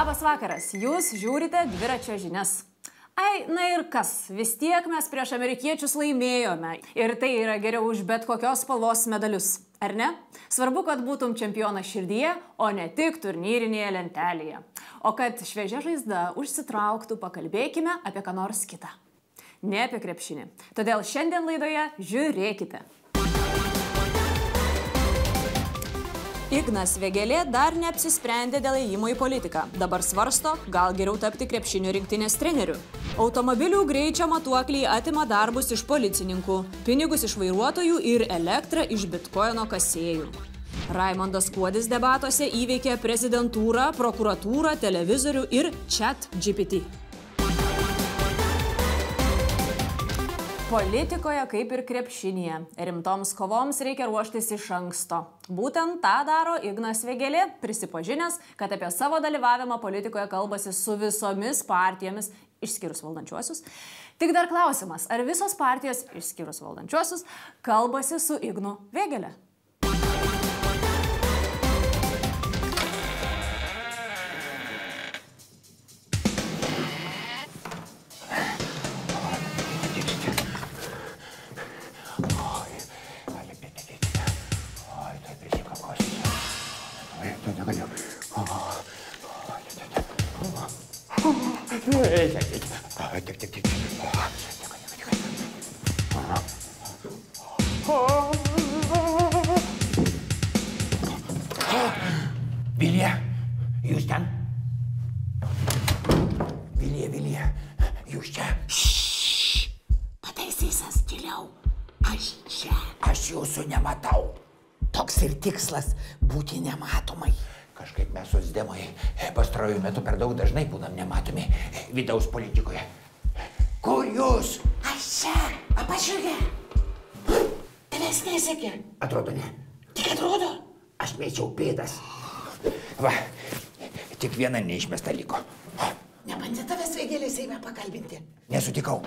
Labas vakaras, jūs žiūrite dviračio žinias. Ai, na ir kas, vis tiek mes prieš amerikiečius laimėjome. Ir tai yra geriau už bet kokios spalvos medalius, ar ne? Svarbu, kad būtum čempionas širdyje, o ne tik turnyrinėje lentelėje. O kad šviežia žaizda užsitrauktų, pakalbėkime apie ką nors kitą. Ne apie krepšinį. Todėl šiandien laidoje žiūrėkite. Ignas Vėgėlė dar neapsisprendė dėl ėjimo į politiką. Dabar svarsto, gal geriau tapti krepšinio rinktinės treneriu. Automobilių greičio matuokliai atima darbus iš policininkų, pinigus iš vairuotojų ir elektrą iš bitkoino kasėjų. Raimondas Kuodis debatuose įveikė prezidentūrą, prokuratūrą, televizorių ir ChatGPT. Politikoje kaip ir krepšinėje. Rimtoms kovoms reikia ruoštis iš anksto. Būtent tą daro Ignas Vėgėlė, prisipažinęs, kad apie savo dalyvavimą politikoje kalbasi su visomis partijomis, išskyrus valdančiuosius. Tik dar klausimas, ar visos partijos, išskyrus valdančiuosius, kalbasi su Ignu Vėgėle? Vilija, jūs ten? Vilija, jūs čia? Pataisysas tyliau. Aš čia. Aš jūsų nematau. Toks ir tikslas būti nematomai. Kažkaip mes socdemai pastaruoju metu per daug dažnai būnam nematomi vidaus politikoje. Kur jūs? Aš čia, apačioje. Tavęs nesekė. Atrodo ne. Tik atrodo. Aš mėčiau pėdas. Va, tik viena neišmesta liko. Nebandė tavęs Vėgėlės Seime pakalbinti. Nesutikau.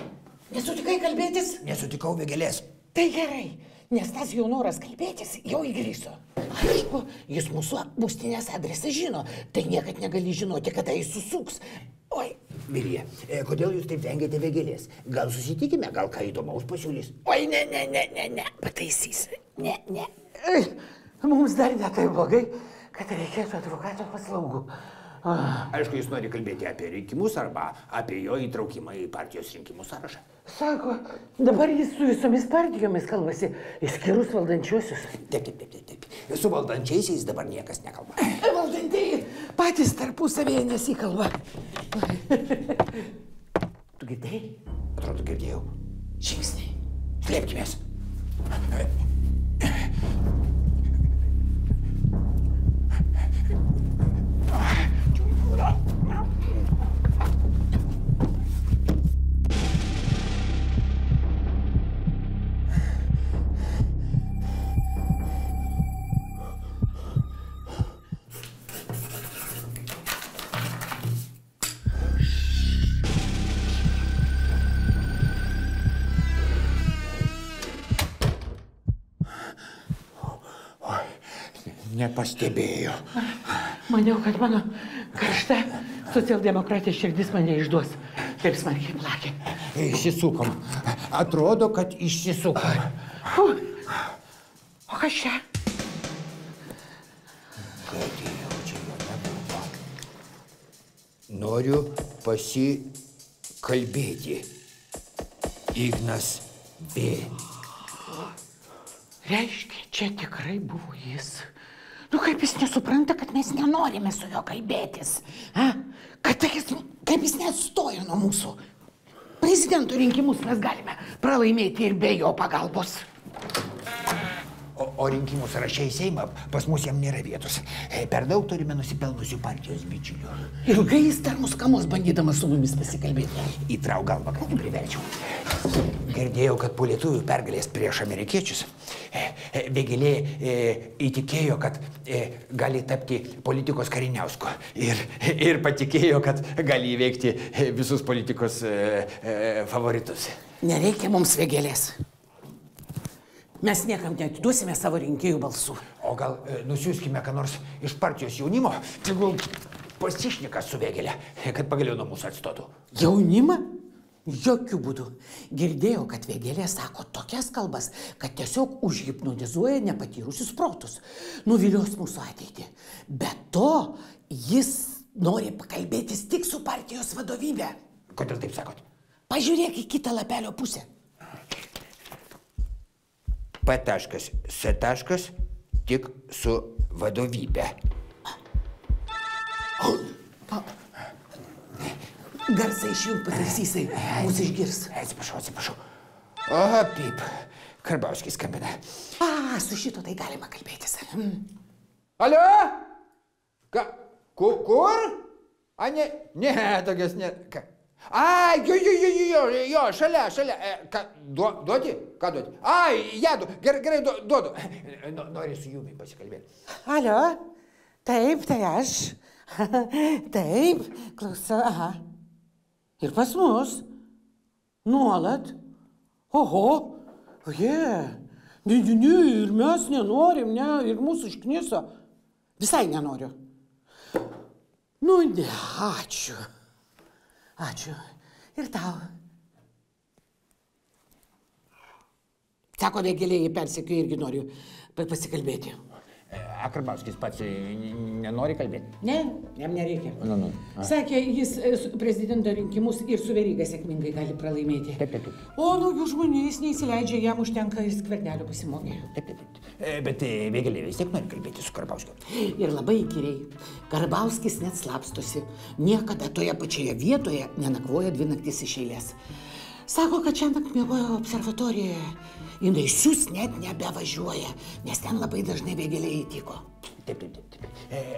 Nesutikai kalbėtis? Nesutikau Vėgėlės. Tai gerai, nes tas jau noras kalbėtis jau įgrįso. Aišku, jis mūsų būstinės adresą žino, tai niekad negali žinoti, kada jis susuks. Oi. Vilija, kodėl jūs taip vengiate Vėgėlės? Gal susitikime, gal ką įdomaus pasiūlys? Oi, ne. Pataisys. Ne. Mums dar ne tai blogai, kad reikėtų advokato paslaugų. Aišku, jis nori kalbėti apie rinkimus arba apie jo įtraukimą į partijos rinkimų sąrašą. Sako, dabar jis su visomis partijomis kalbasi, išskyrus valdančiuosius. Taip. Su valdančiaisiais dabar niekas nekalba. Valdantieji patys tarpusavėje nesikalba. Tu girdėjai? Atrodo, girdėjau. Žingsniai. Slėpkimės. Nepastebėjo. Maniau, kad mano karšta socialdemokratė širdis mane išduos. Taip smarkiai plakė. Išsisukom. Atrodo, kad išsisukom. O kas čia? Gadėjau, čia jo nebuvo. Noriu pasikalbėti. Ignas Vėgėlė. Reiškia, čia tikrai buvo jis. Nu, kaip jis nesupranta, kad mes nenorime su juo kalbėtis. Kaip jis neatstojo nuo mūsų. Prezidento rinkimus mes galime pralaimėti ir be jo pagalbos. O rinkimų sąraše į Seimą pas mus jam nėra vietos. Per daug turime nusipelnusių partijos bičiulių. Ilgai jis dar mus kamos bandydamas su mumis pasikalbėti. Įtrauk galvą, kad nepriverčiau. Girdėjau, kad po lietuvių pergalės prieš amerikiečius Vėgėlė įtikėjo, kad gali tapti politikos Kariniausku. Ir patikėjo, kad gali įveikti visus politikos favoritus. Nereikia mums Vėgėlės. Mes niekam neatiduosime savo rinkėjų balsų. O gal nusiųskime ką nors iš partijos jaunimo? Tegul pasišnikas su Vėgėle, kad pagaliau nuo mūsų atstotų. Jaunimą? Jokių būdų. Girdėjau, kad Vėgėlė sako tokias kalbas, kad tiesiog užhipnotizuoja nepatyrusius protus. Nuvilios mūsų ateitį. Be to, jis nori pakalbėtis tik su partijos vadovybė. Kodėl taip sakot? Pažiūrėk į kitą lapelio pusę. P.S. tik su vadovybė. Garsai išjung pataisysai, mūsų išgirs. Atsiprašau. O, pip, Karbauskis skambina. Su šito tai galima kalbėtis. Alio? Kur? Ne, tokias ne. Jo, šalia. Duoti? Ką duoti? Jadu, gerai, duodu. Nori su Jumi pasikalbėti. Alio? Taip, tai aš. Taip, klausau, aha. Ir pas mus. Nuolat. Oho. Ne, ir mes nenorim, ne, ir mūsų iškniso. Visai nenoriu. Nu, ne, ačiū. Ir tau. Sako, Vėgėlė, jį persekioja, irgi noriu pasikalbėti. Karbauskis pats nenori kalbėti? Ne, jam nereikia. Nu. Sakė, jis prezidento rinkimus ir su Veryga sėkmingai gali pralaimėti. Taip. O naujų žmonių jis neįsileidžia, jam užtenka Skvernelio pasimokė. Taip. Bet Vėgėlė vis tiek nori kalbėti su Karbauskiu. Ir labai įkyriai. Karbauskis net slapstosi. Niekada toje pačioje vietoje nenakvoja 2 naktis iš eilės. Sako, kad šiandien miegojo observatorijoje. Jinai sius net nebevažiuoja, nes ten labai dažnai Vėgėlė įtiko. Taip.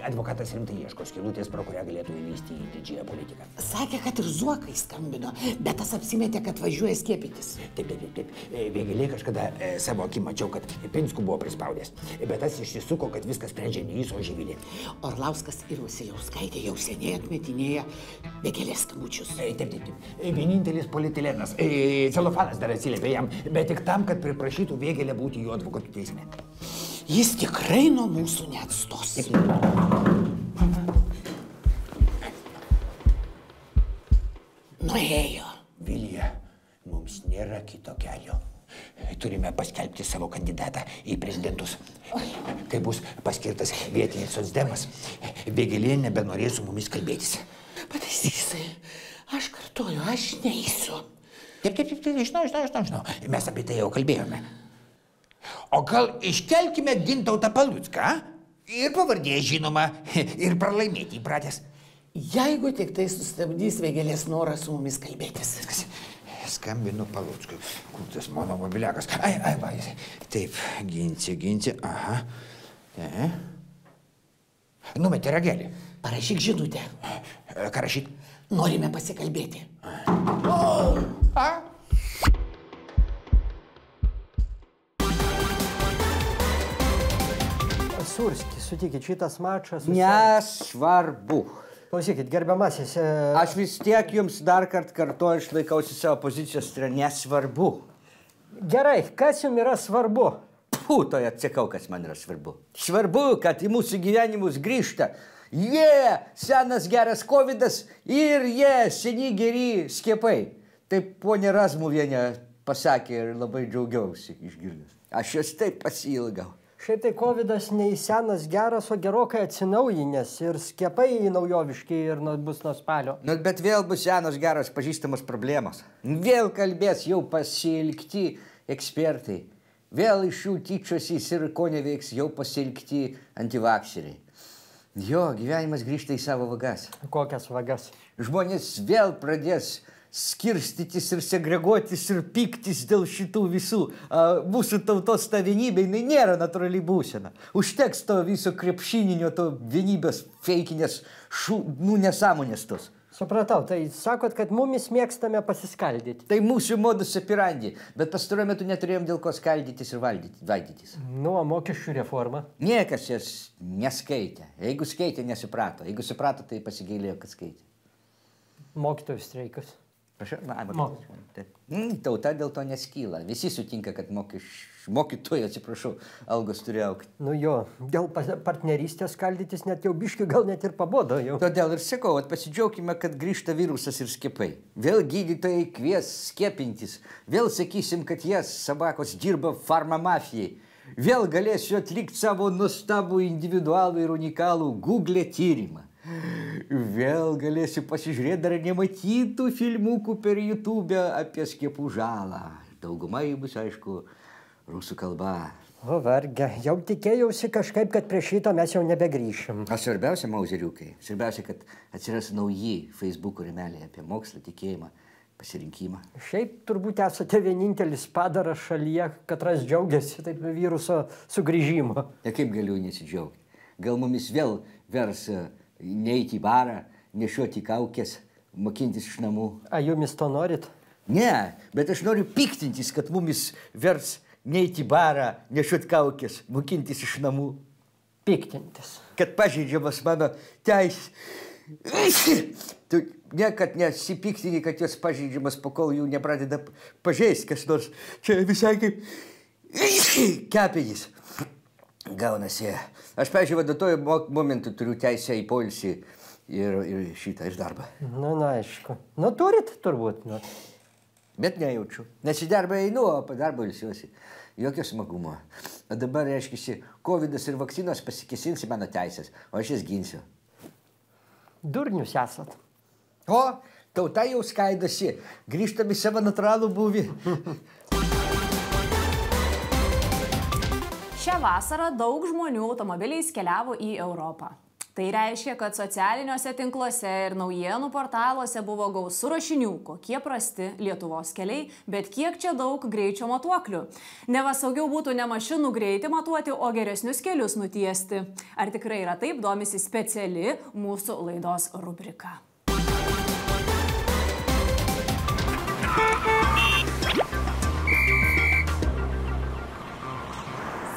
Advokatas rimtai ieško skylutės, pro kurią galėtų įlįsti į didžiąją politiką. Sakė, kad ir Zuokai skambino, bet tas apsimetė, kad važiuoja skiepytis. Taip. Vėgėlė kažkada savo akim mačiau, kad Pinskų buvo prispaudęs. Bet tas išsisuko, kad viskas sprendžia ne jis, o Živilė. Orlauskas ir Vasiliauskaitė jau seniai atmetinėja Vėgėlės skambučius. Taip. Vienintelis politilenas. Celofanas dar atsiliepė jam, bet tik tam, kad priprašytų Vėgėlę būti jo advokatų teisme. Jis tikrai nuo mūsų neatstos. Nuėjo. Vilija, mums nėra kito kelio. Turime paskelbti savo kandidatą į prezidentus. Kai bus paskirtas vietinis socdemas, Vėgėlė nebenorės su mumis kalbėtis. Pataisysai, aš kartuoju, aš neįsiu. Taip, žinau. Mes apie tai jau kalbėjome. O gal iškelkime Gintautą Palucką ir pavardė žinoma ir pralaimėti įpratęs. Jeigu tik tai sustabdys Vėgėlės norą su mumis kalbėtis. Skambinu Paluckui. Kur tas mano mobiliakas? Va, taip, ginci, aha. Numetė ragelį. Parašyk žinutę. Ką rašyt? Norime pasikalbėti. Surski, sutikit, šitas mačas... Nesvarbu. Klausykit, gerbiamasis... Aš vis tiek jums dar kartą kartuoju, išlaikausi savo pozicijos, tai yra nesvarbu. Gerai, kas jums yra svarbu? Toje atsikau, kas man yra svarbu. Svarbu, kad į mūsų gyvenimus grįžta. Senas geras kovidas ir seni geri skiepai. Taip ponė Razmuvienė pasakė ir labai džiaugiausi išgirdęs. Aš jos taip pasiilgau. Šiaip tai kovidas nei senas geras, o gerokai atsinaujinęs ir skiepai naujoviški ir bus nuo spalio. Bet vėl bus senos geros pažįstamos problemos. Vėl kalbės jau pasiilgti ekspertai. Vėl iš jų tyčiosys ir ko neveiks jau pasiilgti antivakseriai. Jo, gyvenimas grįžta į savo vagas. Kokias vagas? Žmonės vėl pradės skirstytis ir segreguotis ir pyktis dėl šitų visų. Mūsų tautos ta vienybė, jinai nėra natūrali būsena. Užteks to viso krepšininio, to vienybės feikinės, nesąmonės tos. Supratau, tai sakot, kad mumis mėgstame pasiskaldyti. Tai mūsų modus operandi, bet pastaruoju metu neturėjom dėl ko skaldytis ir valdytis. Nu, o mokesčių reforma? Niekas jas neskaitė. Jeigu skaitė, nesuprato. Jeigu suprato, tai pasigailėjo, kad skaitė. Mokytojų streikas? Tauta dėl to neskyla. Visi sutinka, kad mokytojai, atsiprašau, algos turi augti. Nu jo, dėl partnerystės skaldytis net jau biški gal net ir pabodo jau. Todėl ir sakau, pasidžiaukime, kad grįžta virusas ir skiepai. Vėl gydytojai kvies skiepintis. Vėl sakysim, kad jas sabakos dirba farmamafijai. Vėl galėsiu atlikti savo nuostabų individualų ir unikalų Google tyrimą. Vėl galėsiu pasižiūrėti dar nematytų filmukų per YouTube apie skiepų žalą. Dauguma jų bus, aišku, rusų kalba. O varge, jau tikėjausi kažkaip, kad prie šito mes jau nebegrįšim. O svarbiausia, mauzeriukai, svarbiausia, kad atsiras nauji Facebook'o rėmeliai apie mokslą, tikėjimą, pasirinkimą. Šiaip turbūt esate vienintelis padaras šalyje, katras džiaugiasi taip viruso sugrįžimo. Ir kaip galiu nesidžiaugti? Gal mumis vėl vers neiti į barą, nešioti kaukės, mokintis iš namų. A jumis to norit? Ne, bet aš noriu piktintis, kad mumis vers neiti į barą, nešioti kaukės, mokintis iš namų. Piktintis. Kad pažeidžiamas mano teisės. Tu niekad nesipiktini, kad jos pažeidžiamas, pakol jų nepradeda pažeisti kas nors. Čia visai kaip kepenys. Gaunasi. Aš, pavyzdžiui, vadatuoju momentu turiu teisę į poilsį ir šitą, ir darbą. Na, aišku. Nu, turit turbūt. Nu. Bet nejaučiu. Nes į darbą einu, o po darbo ilsiuosi. Jokio smagumo. O dabar, reiškia, Covidas ir vakcinos pasikėsins į mano teisės, o aš jas ginsiu. Durnius esat. O, tauta jau skaidosi. Grįžtam į savo natūralų būvį. Šią vasarą daug žmonių automobiliais keliavo į Europą. Tai reiškia, kad socialiniuose tinkluose ir naujienų portaluose buvo gausu rašinių, kokie prasti Lietuvos keliai, bet kiek čia daug greičio matuoklių. Neva saugiau būtų ne mašinų greitį matuoti, o geresnius kelius nutiesti. Ar tikrai yra taip, domisi speciali mūsų laidos rubrika.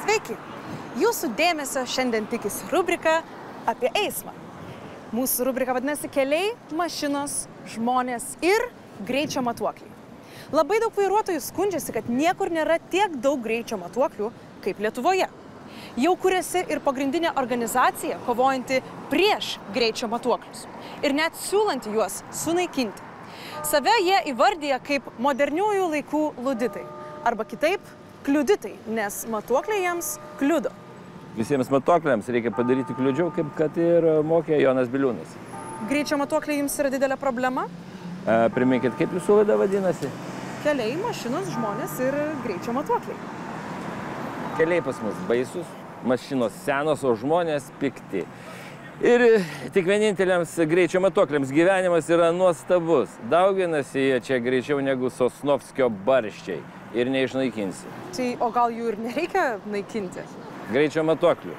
Sveiki! Jūsų dėmesio šiandien tikisi rubrika apie eismą. Mūsų rubrika vadinasi Keliai, mašinos, žmonės ir greičio matuokliai. Labai daug vairuotojų skundžiasi, kad niekur nėra tiek daug greičio matuoklių kaip Lietuvoje. Jau kuriasi ir pagrindinė organizacija, kovojanti prieš greičio matuoklius ir net siūlanti juos sunaikinti. Save jie įvardyja kaip moderniųjų laikų luditai arba kitaip kliuditai, nes matuokliai jiems kliudo. Visiems matuokliams reikia padaryti kliudžiau, kaip kad ir mokė Jonas Biliūnas. Greičio matuokliai jums yra didelė problema? Priminkit, kaip jūsų laida vadinasi? Keliai, mašinos, žmonės ir greičio matuokliai. Keliai pas mus baisus, mašinos senos, o žmonės pikti. Ir tik vieninteliams greičio matuokliams gyvenimas yra nuostabus. Dauginasi jie čia greičiau negu Sosnovskio barščiai ir neišnaikinsi. Tai o gal jų ir nereikia naikinti? Greičio matuoklių.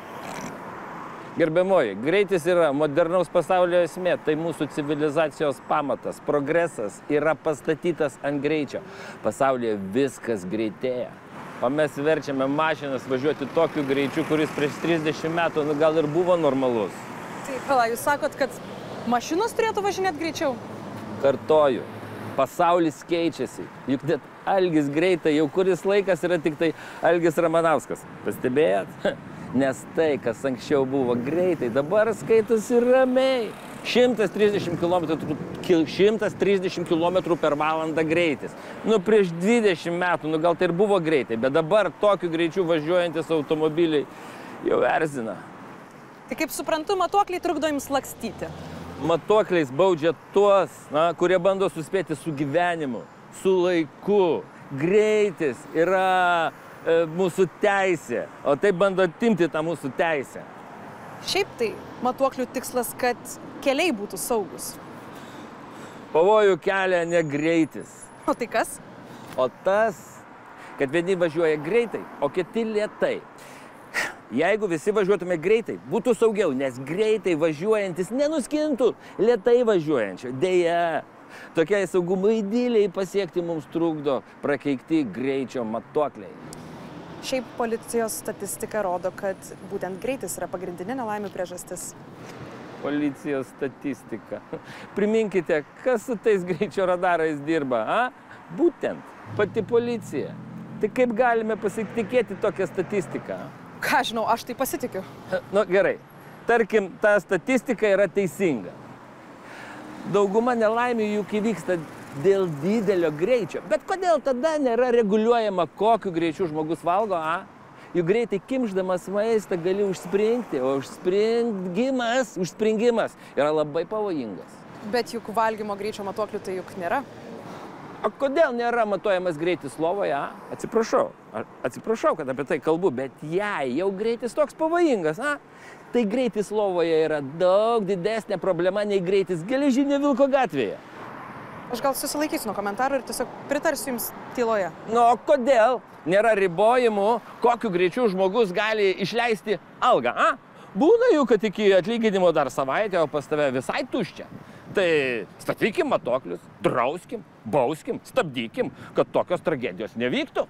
Gerbiamoji, greitis yra modernaus pasaulio esmė, tai mūsų civilizacijos pamatas. Progresas yra pastatytas ant greičio. Pasaulyje viskas greitėja. O mes verčiame mašinas važiuoti tokiu greičiu, kuris prieš 30 metų gal ir buvo normalus. Tai pala, jūs sakot, kad mašinos turėtų važinėti greičiau? Kartoju, pasaulis keičiasi. Juk net Algis greitai jau kuris laikas yra tik tai Algis Ramanauskas. Pastebėjot? Nes tai, kas anksčiau buvo greitai, dabar skaitosi ramiai. 130 km per valandą greitis. Nu, prieš 20 metų, nu gal tai ir buvo greitai, bet dabar tokiu greičiu važiuojantis automobiliai jau erzina. Tai kaip suprantu, matuokliai trukdo jums lakstyti. Matuokliais baudžia tuos, kurie bando suspėti su gyvenimu, su laiku. Greitis yra mūsų teisė, o taip bando atimti tą mūsų teisę. Šiaip tai matuoklių tikslas, kad keliai būtų saugus. Pavojų kelia ne greitis. O tai kas? O tas, kad vieni važiuoja greitai, o kiti lėtai. Jeigu visi važiuotume greitai, būtų saugiau, nes greitai važiuojantis nenuskintų lėtai važiuojančio. Deja, tokiai saugumo idiliai pasiekti mums trukdo prakeikti greičio matuokliai. Šiaip policijos statistika rodo, kad būtent greitis yra pagrindinė nelaimių priežastis. policijos statistika. Priminkite, kas su tais greičio radarais dirba, a? Būtent pati policija. Tai kaip galime pasitikėti tokią statistiką? Ką žinau, aš tai pasitikiu. Nu gerai, tarkim, ta statistika yra teisinga. Dauguma nelaimių juk įvyksta dėl didelio greičio. Bet kodėl tada nėra reguliuojama, kokiu greičiu žmogus valgo, a? Juk greitai kimšdamas maistą gali užspringti, o užspringimas yra labai pavojingas. Bet juk valgymo greičio matuoklių tai juk nėra. O kodėl nėra matuojamas greitis lovoje, a? Atsiprašau, kad apie tai kalbu, bet jei jau greitis toks pavojingas, a? Tai greitis lovoje yra daug didesnė problema nei greitis Geležinio Vilko gatvėje. Aš gal susilaikysiu nuo komentarų ir tiesiog pritarsiu jums tyloje. Nu, o kodėl nėra ribojimų, kokiu greičiu žmogus gali išleisti algą, a? Būna jų, kad iki atlyginimo dar savaitę, o pas tave visai tuščia. Tai statykim matuoklius, drauskim, bauskim, stabdykim, kad tokios tragedijos nevyktų.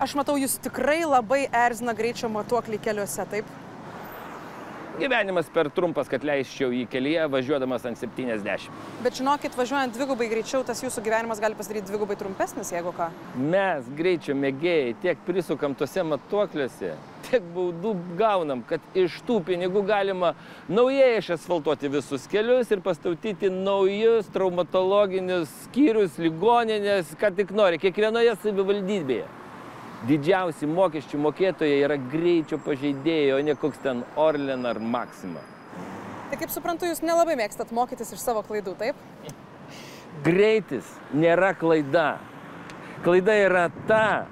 Aš matau, jūs tikrai labai erzina greičio matuoklį keliuose, taip? Gyvenimas per trumpas, kad leisčiau į kelyje važiuodamas ant 70. Bet žinokit, važiuojant dvigubai greičiau, tas jūsų gyvenimas gali pasidaryti dvigubai trumpesnis, jeigu ką. Mes, greičio mėgėjai, tiek prisukam tose matuokliuose, tiek baudų gaunam, kad iš tų pinigų galima naujai išasfaltuoti visus kelius ir pastatyti naujus traumatologinius skyrius, ligoninės, ką tik nori, kiekvienoje savivaldybėje. Didžiausi mokesčių mokėtojai yra greičio pažeidėjai, o ne koks ten Orlen ar Maxima. Tai kaip suprantu, jūs nelabai mėgstat mokytis iš savo klaidų, taip? Greitis nėra klaida. Klaida yra ta,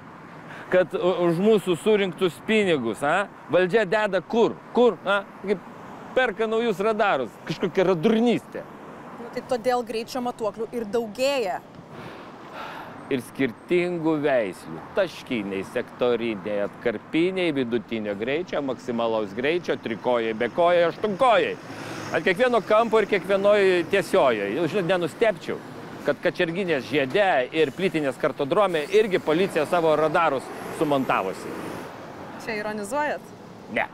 kad už mūsų surinktus pinigus, valdžia deda kur? Kur? Kaip perka naujus radarus, kažkokia radurnystė. Tai todėl greičio matuoklių ir daugėja. Ir skirtingų veislių. Taškiniai, sektoriniai, atkarpiniai, vidutinio greičio, maksimalaus greičio, trikojai, bekojai, aštunkojai. Ant kiekvieno kampo ir kiekvienoj tiesiojoje. Jau žinot, nenustepčiau, kad Kačerginės žiede ir Plytinės kartodrome irgi policija savo radarus sumontavosi. Čia ironizuojat? Ne.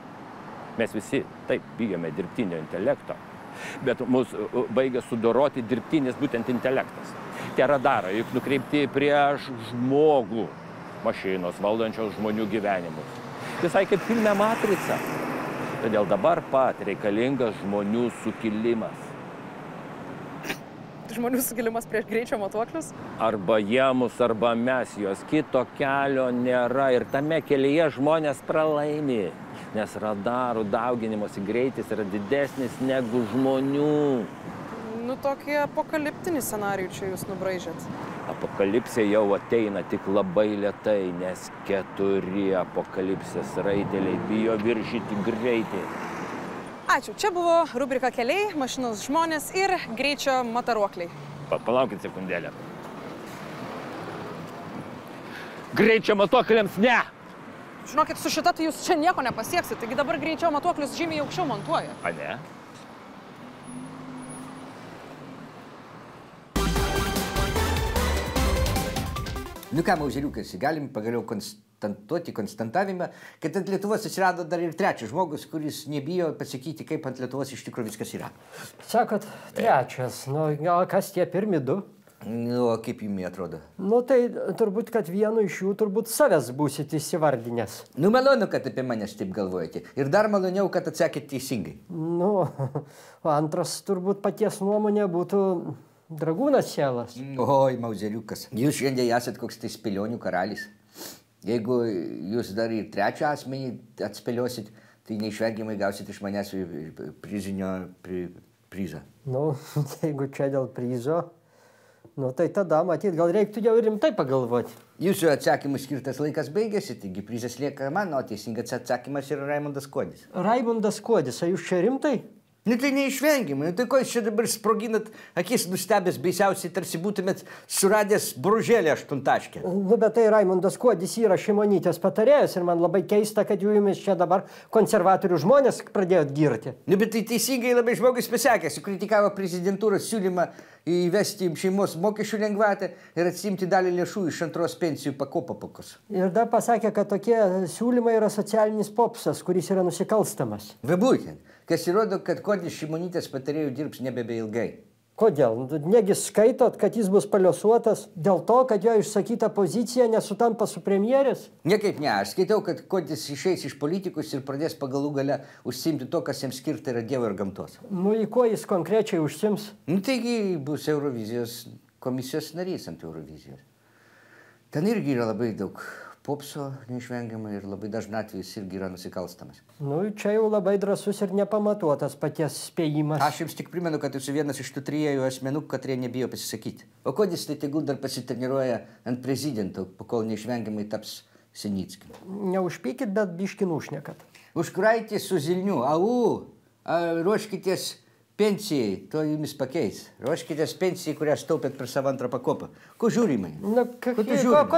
Mes visi taip bijome dirbtinio intelekto, bet mūsų baigia sudoroti dirbtinis būtent intelektas. Tie radarai juk nukreipti prieš žmogų, mašinos valdančios žmonių gyvenimus. Visai kaip filme Matrica. Todėl dabar pat reikalingas žmonių sukilimas. Žmonių sukilimas prieš greičio matuoklius? Arba jie mus, arba mes jos. Kito kelio nėra ir tame kelyje žmonės pralaimi. Nes radarų dauginimosi greitis yra didesnis negu žmonių. Nu, tokį apokaliptinį scenarijų čia jūs nubraižėt. Apokalipsė jau ateina tik labai lėtai, nes 4 apokalipsės raiteliai bijo viršyti greitį. Ačiū. Čia buvo rubrika Keliai, mašinos žmonės ir greičio mataruokliai. Palaukit sekundėlę. Greičio matuokliams ne! Žinokit, su šita tai jūs čia nieko nepasieksit, taigi dabar greičio matuoklius žymiai aukščiau montuoja. A ne? Nu ką, Mauzeliukas, galim pagaliau konstantavimą, kad ant Lietuvos atsirado dar ir trečias žmogus, kuris nebijo pasakyti, kaip ant Lietuvos iš tikrųjų viskas yra. Sakot, trečias. Nu, gal kas tie pirmi du? Nu, o kaip jums atrodo? Nu, tai turbūt, kad vienu iš jų turbūt savęs būsit įsivardinęs. Nu, malonu, kad apie manęs taip galvojate. Ir dar maloniau, kad atsakėte teisingai. Nu, o antras turbūt paties nuomonė būtų Dragūnas Selas. Oi, Mauzeliukas, jūs šiandien esat koks tai spėlionių karalis. Jeigu jūs dar ir trečią asmenį atspėliosit, tai neišvengiamai gausit iš manęs prizą. Nu, jeigu čia dėl prizo, nu tai tada, matyt, gal reiktų jau rimtai pagalvoti. Jūsų atsakymų skirtas laikas baigėsi, taigi prizas lieka man, o teisingas atsakymas yra Raimundas Kuodis. Raimundas Kuodis, ar jūs čia rimtai? Nu tai neišvengiamai, nu tai ko jūs čia dabar sproginat akis nustebęs, baisiausiai tarsi būtumėt suradęs bružėlį 8. Nu, bet tai Raimundas Kuodis yra Šimonytės patarėjas ir man labai keista, kad jumis čia dabar konservatorių žmonės pradėjot girti. Nu, bet tai teisingai labai žmogus pasakė, sukritikavo prezidentūros siūlymą įvesti šeimos mokesčių lengvatą ir atsimti dalį lėšų iš antros pensijų pakopos. Ir dar pasakė, kad tokie siūlymai yra socialinis popsas, kuris yra nusikalstamas. Va būtent. kas įrodo, kad Kodis Šimonytės patarėjų dirbs nebeilgai. Kodėl? Negi skaitot, kad jis bus paliosuotas dėl to, kad jo išsakyta pozicija nesutampa su premjerės? Niekaip ne, aš skaitau, kad Kodis išeis iš politikus ir pradės pagalų gale užsiimti to, kas jiems skirta yra Dievo ir gamtos. Nu, į ko jis konkrečiai užsiims? Nu, taigi bus Eurovizijos komisijos narys ant Eurovizijos. Ten irgi yra labai daug popso neišvengiamai ir labai dažnai atvejais irgi yra nusikalstamas. Nu, čia jau labai drąsus ir nepamatuotas paties spėjimas. Aš jums tik primenu, kad esu vienas iš tų 3 asmenų, kurie nebijo pasisakyti. O Kodis tai tegul dar pasitreniruoja ant prezidento, kol neišvengiamai taps Senickiu. Neužpykit, bet biškin užnekat. Užkraitį su Zilniu. Ruoškitės pensijai, to jumis pakeis. Ruoškitės pensijai, kurią taupėt per savo antrą pakopą. Ko žiūri mane? Na, ko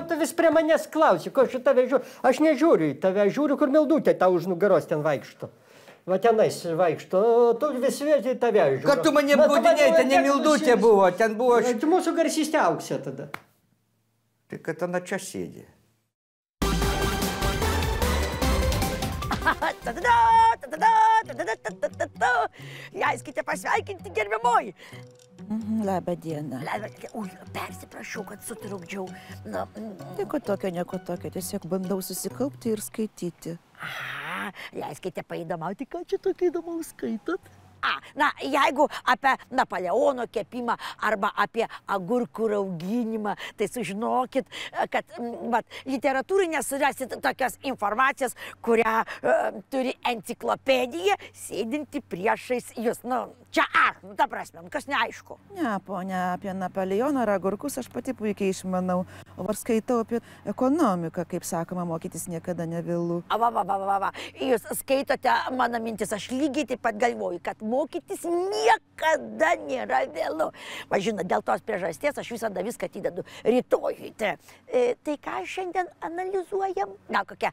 tu vis prie manęs klausi? Ko aš tave žiūriu? Aš nežiūriu į tave, žiūriu, kur Mildutė tau už nugaros ten vaikšto. Va tenais vaikšto, tu vis vėžiai tave žiūriu. Kad tu mane apgaudinėjai, ten ne Mildutė buvo, ten buvo... Tu mūsų garsystė Auksė tada. Tai kad ana čia sėdė. Leiskite pasveikinti, gerbiamoji. Labą dieną. Persiprašau, kad sutrukdžiau. Nieko tokio, tiesiog bandau susikaupti ir skaityti. Leiskite paįdomauti, ką čia tokio įdomaus skaitot? Jeigu apie Napoleono kepimą arba apie agurkų rauginimą, tai sužinokit, kad literatūrai nesurasit tokios informacijos, kurią turi enciklopedija sėdinti priešais jūs. Čia ta prasme, kas neaišku. Ne, ponia, apie Napoleoną ar agurkus aš pati puikiai išmanau. O ar skaitau apie ekonomiką, kaip sakoma, mokytis niekada nevėlu. Jūs skaitote mano mintis, aš lygiai taip pat galvoju, kad mokytis niekada nėra vėlu. Žinot, dėl tos priežasties aš visada viską atidedu rytojui. Tai ką šiandien analizuojam? Kokia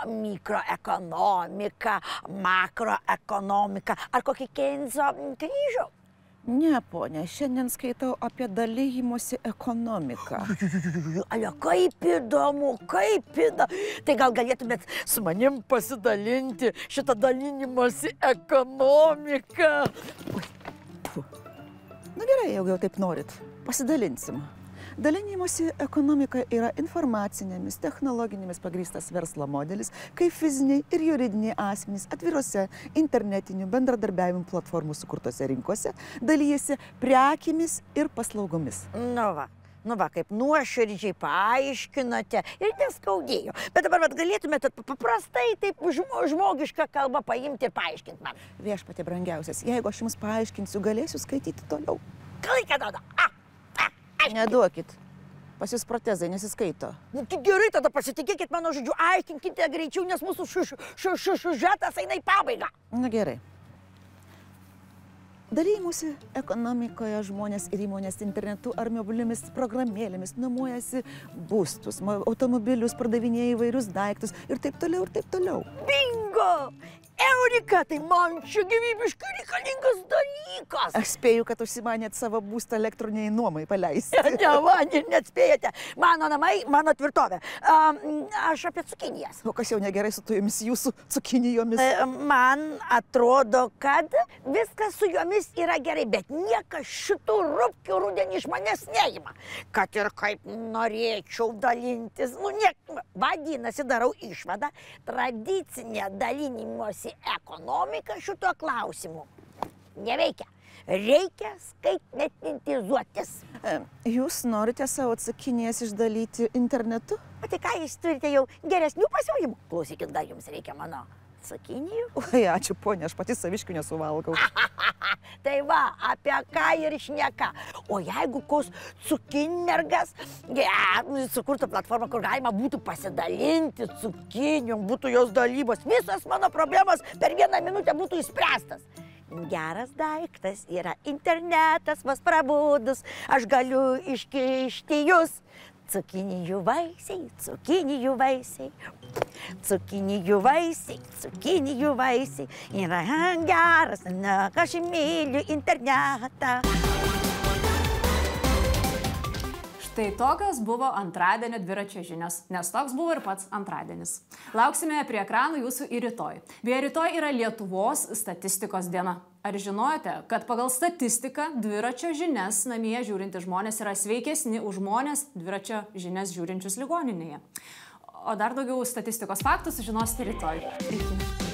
mikroekonomika, makroekonomika ar kokį Keynes'o kryžių? Ne, ponia, šiandien skaitau apie dalijimosi ekonomiką. Kaip įdomu, kaip įdomu. Tai gal galėtumėt su manim pasidalinti šitą dalinimosi ekonomiką? Na gerai, jau taip norit. Pasidalinsim. Dalinimosi ekonomika yra informacinėmis, technologinėmis pagrįstas verslo modelis, kai fiziniai ir juridiniai asmenys atvirose internetinių bendradarbiavimo platformų sukurtose rinkose dalyjasi prekiamis ir paslaugomis. Nu va, kaip nuoširdžiai paaiškinote ir neskaudėjo. Bet dabar galėtumėte paprastai taip žmogišką kalbą paimti ir paaiškinti man. Viešpatie brangiausias, jeigu aš jums paaiškinsiu, galėsiu skaityti toliau. Laiką duoda. Neduokit. Pas jūs protezai nesiskaito. Tai gerai, tada pasitikėkit mano žodžiu, aiškinkite greičiau, nes mūsų siužetas eina į pabaigą. Na gerai. Dalymosi ekonomikoje žmonės ir įmonės internetu ar mobiliomis programėlėmis nuomojasi būstus, automobilius, pardavinėja įvairius daiktus ir taip toliau, ir taip toliau. Bingo! Eurika, tai man čia gyvybiškai reikalingas dalykas. Aš spėju, kad užsimanėt savo būstą elektroniniai nuomai paleisti. Net spėjate. Mano namai, mano tvirtovė. Aš apie cukinijas. O kas jau negerai su tojomis jūsų cukinijomis? Man atrodo, kad viskas su jomis yra gerai, bet niekas šitų rupkių rudenį iš manęs neima. Kad ir kaip norėčiau dalintis. Vadinasi, darau išvadą, tradicinė dalinimosi ekonomika šito klausimu neveikia. Reikia skaitmetizuotis. Jūs norite savo cukinijas išdalyti internetu? O tai ką, jūs turite jau geresnių pasiūlymų? Klausykit, gal jums reikia mano cukinijų? Oi, ačiū, ponia, aš pati saviškių nesuvalgau. Tai va, apie ką ir šneka. O jeigu koks cukinmergas sukurtų platformą, kur galima būtų pasidalinti cukinijom, būtų jos dalybos, visas mano problemas per 1 minutę būtų išspręstas. Geras daiktas yra internetas, vas prabudus, aš galiu iškišti jūs. Cukinijų vaisiai, cukinijų vaisiai, cukinijų vaisiai, cukinijų vaisiai. Yra geras, aš myliu internetą. Tai tokios buvo antradienio dviračio žinios, nes toks buvo ir pats antradienis. Lauksime prie ekranų jūsų ir rytoj. Beje, rytoj yra Lietuvos statistikos diena. Ar žinojote, kad pagal statistiką dviračio žinias namie žiūrinti žmonės yra sveikesni už žmonės dviračio žinias žiūrinčius ligoninėje? O dar daugiau statistikos faktų sužinosite rytoj. Iki.